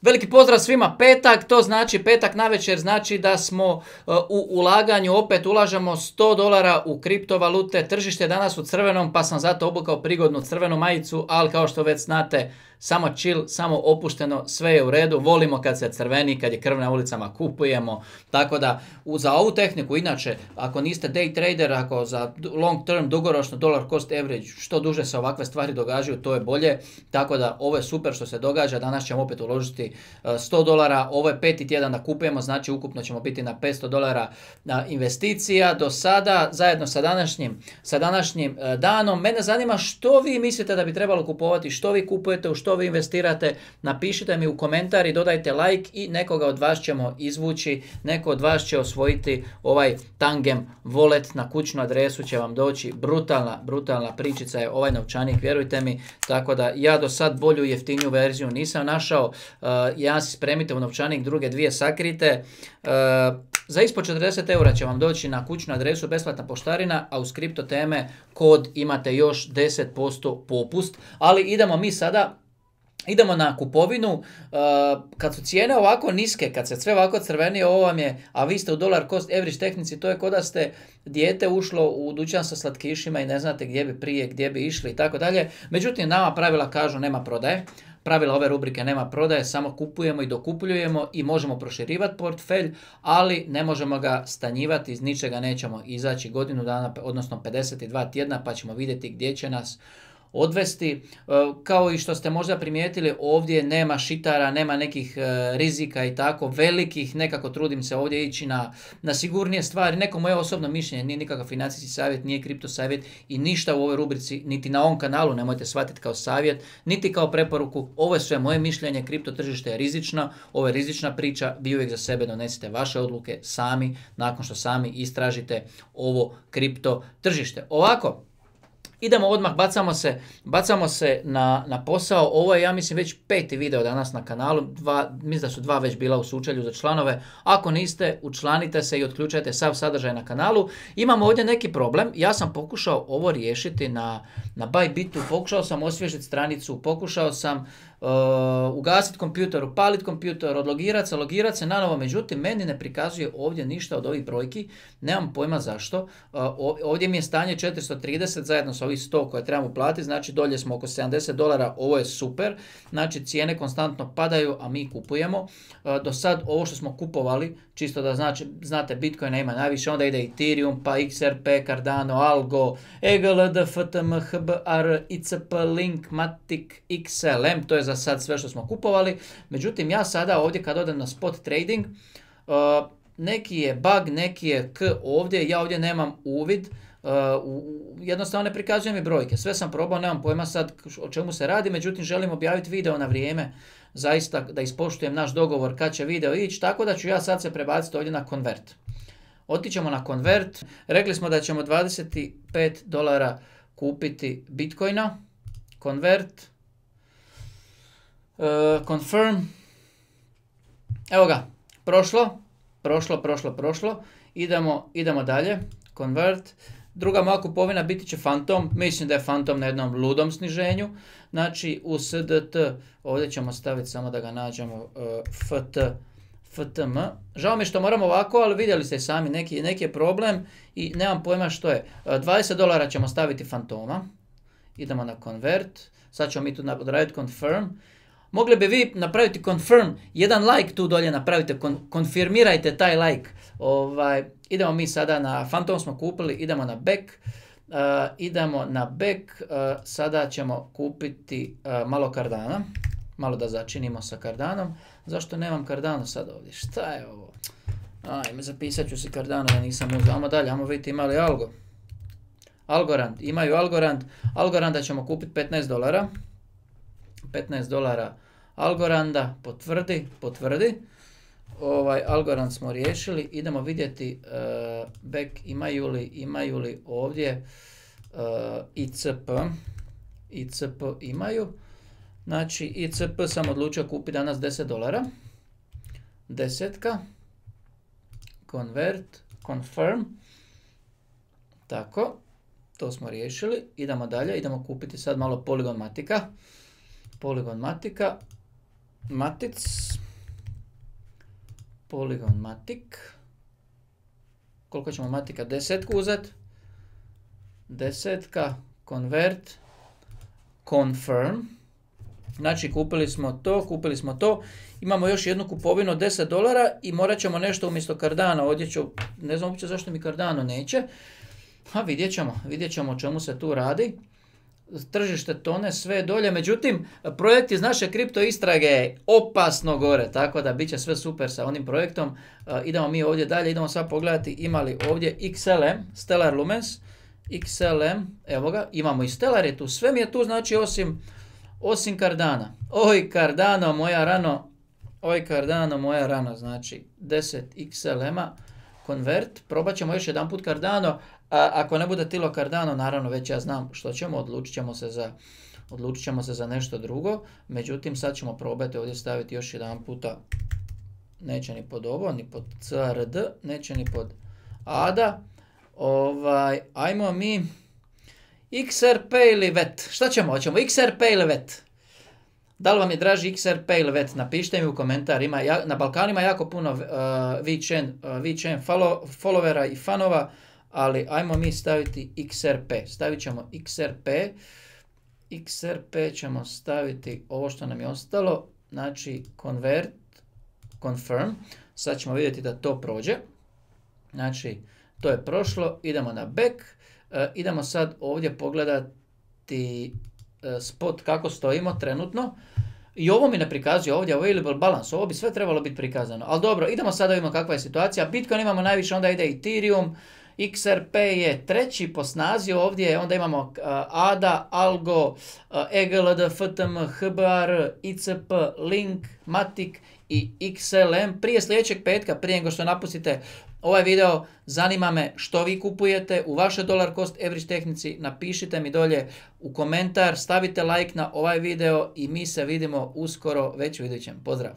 Veliki pozdrav svima, petak, to znači petak navečer, znači da smo u ulaganju, opet ulažemo $100 u kriptovalute, tržište je danas u crvenom, pa sam zato obukao prigodnu crvenu majicu, ali kao što već znate, samo chill, samo opušteno, sve je u redu, volimo kad se crveni, kad je krv na ulicama, kupujemo, tako da za ovu tehniku, inače, ako niste day trader, ako za long term, dugoročno, dollar cost average, što duže se ovakve stvari događaju, to je bolje, tako da ovo je super što se događa, danas ćemo opet uložiti $100, ovo je peti tjedan da kupujemo, znači ukupno ćemo biti na $500 investicija do sada, zajedno sa današnjim danom. Mene zanima što vi mislite da bi trebalo kupovati, što vi kupujete, u što vi investirate, napišite mi u komentari, dodajte like i nekoga od vas ćemo izvući, neko od vas će osvojiti ovaj Tangem wallet, na kućnu adresu će vam doći, brutalna pričica je ovaj novčanik, vjerujte mi, tako da ja do sad bolju i jeftiniju verziju nisam našao, jedan si spremite u novčanik, druge dvije sakrite, za ispod 40 eura će vam doći na kućnu adresu besplatna poštarina, a uz kripto teme kod imate još 10% popust, ali idemo na kupovinu, kad su cijene ovako niske, kad se sve ovako crveni, ovo vam je, a vi ste u dollar cost average tehnici, to je kao da ste dijete ušlo u dućan sa slatkišima i ne znate gdje bi prije, gdje bi išli i tako dalje. Međutim, nama pravila kažu nema prodaje. Pravila ove rubrike nema prodaje, samo kupujemo i dokupljujemo i možemo proširivati portfelj, ali ne možemo ga stanjivati, iz ničega nećemo izaći godinu dana, odnosno 52 tjedna, pa ćemo vidjeti gdje će nas odvesti. Kao i što ste možda primijetili, ovdje nema šitara, nema nekih rizika i tako velikih, nekako trudim se ovdje ići na sigurnije stvari, neko moje osobno mišljenje, nije nikakav financijski savjet, nije kripto savjet i ništa u ovoj rubrici, niti na ovom kanalu nemojte shvatiti kao savjet, niti kao preporuku, ovo je sve moje mišljenje, kripto tržište je rizično, ovo je rizična priča, vi uvijek za sebe donesite vaše odluke sami, nakon što sami istražite ovo kripto tržište. Ovako, idemo odmah, bacamo se na posao. Ovo je, ja mislim, već 5. video danas na kanalu. Mislim da su 2 već bila u sučelju za članove. Ako niste, učlanite se i otključajte sav sadržaj na kanalu. Imamo ovdje neki problem. Ja sam pokušao ovo riješiti na Bybitu. Pokušao sam osvježiti stranicu, pokušao sam ugasiti kompjuter, upaliti kompjuter, odlogirati se nanovo, međutim meni ne prikazuje ovdje ništa od ovih brojki, nemam pojma zašto. Ovdje mi je stanje 430 zajedno sa ovih 100 koje trebamo platiti, znači dolje smo oko $70, ovo je super, znači cijene konstantno padaju, a mi kupujemo. Do sad ovo što smo kupovali, čisto da znate, Bitcoina ima najviše, onda ide Ethereum, pa XRP, Cardano, Algo, EGLD, FTM, HBR, ICP, Link, Matic, XLM, to je za sad sve što smo kupovali. Međutim, ja sada ovdje kad odem na spot trading, neki je bug, neki je ovdje, ja ovdje nemam uvid, jednostavno ne prikazujem mi brojke. Sve sam probao, nemam pojma sad o čemu se radi, međutim želim objaviti video na vrijeme, zaista da ispoštujem naš dogovor kad će video ići, tako da ću ja sad se prebaciti ovdje na Convert. Otićemo na Convert, rekli smo da ćemo $25 kupiti Bitcoina, Convert, confirm, evo ga, prošlo, idemo dalje, convert, druga moja kupovina biti će Phantom, mislim da je Phantom na jednom ludom sniženju, znači u SDT, ovdje ćemo staviti samo da ga nađemo, FTM, žao mi što moramo ovako, ali vidjeli ste sami, neki je problem i nemam pojma što je, $20 ćemo staviti Phantoma, idemo na convert, sad ćemo mi tu odraditi confirm. Mogli bi vi napraviti confirm, jedan like tu dolje napravite, konfirmirajte taj like. Idemo mi sada na Phantom smo kupili, idemo na back, sada ćemo kupiti malo Cardana, malo da začinimo sa Cardanom. Zašto nemam Cardano sad ovdje? Šta je ovo? Ajme, zapisat ću si Cardano da nisam uzeo. Ajmo dalje, ajmo vidjeti ima li Algorand, imaju Algoranda ćemo kupiti $15. $15 Algoranda, potvrdi. Algorand smo riješili, idemo vidjeti back, imaju li ovdje ICP imaju, znači ICP sam odlučio kupiti danas $10, desetka, convert, confirm, tako, to smo riješili, idemo dalje, idemo kupiti sad malo Polygon Matica, Matic, Polygon Matic, koliko ćemo Matika, 10 uzeti, 10, convert, confirm, znači kupili smo to, imamo još jednu kupovinu od $10 i morat ćemo nešto umjesto Cardano, ovdje ću, ne znam uopće zašto mi Cardano neće, a vidjet ćemo o čemu se tu radi. Tržište tone sve dolje, međutim projekt iz naše kripto istrage je opasno gore, tako da bit će sve super sa onim projektom. Idemo mi ovdje dalje, idemo sad pogledati ima li ovdje XLM, Stellar Lumens, XLM, evo ga, imamo i Stellar je tu, sve mi je tu, znači osim Cardana. Oj Cardano moja rano, znači 10 XLM-a, convert, probat ćemo još jedan put Cardano, ako ne bude tilo Cardano, naravno već ja znam što ćemo, odlučit ćemo se za nešto drugo, međutim sad ćemo probati ovdje staviti još jedan puta, neće ni pod ovo, ni pod CRD, neće ni pod ADA, ajmo mi XRP ili VET, šta ćemo, hoćemo XRP ili VET? Da li vam je draži XRP ili VET? Napišite mi u komentarima, na Balkanu ima jako puno VeChain followera i fanova, ali ajmo mi staviti XRP, stavit ćemo XRP ćemo staviti ovo što nam je ostalo, znači convert, confirm, sad ćemo vidjeti da to prođe, znači to je prošlo, idemo na back, idemo sad ovdje pogledati spot kako stojimo trenutno. I ovo mi ne prikazuje ovdje available balance, ovo bi sve trebalo biti prikazano. Ali dobro, idemo sad da vidimo kakva je situacija. Bitcoin imamo najviše, onda ide Ethereum, XRP je treći po snazi ovdje, onda imamo ADA, Algo, EGLD, FTM, HBAR, ICP, Link, Matic i XLM. Prije sljedećeg petka, prije nego što napustite ovaj video, zanima me što vi kupujete u vašoj dollar cost average tehnici, napišite mi dolje u komentar, stavite like na ovaj video i mi se vidimo uskoro već u idućem. Pozdrav!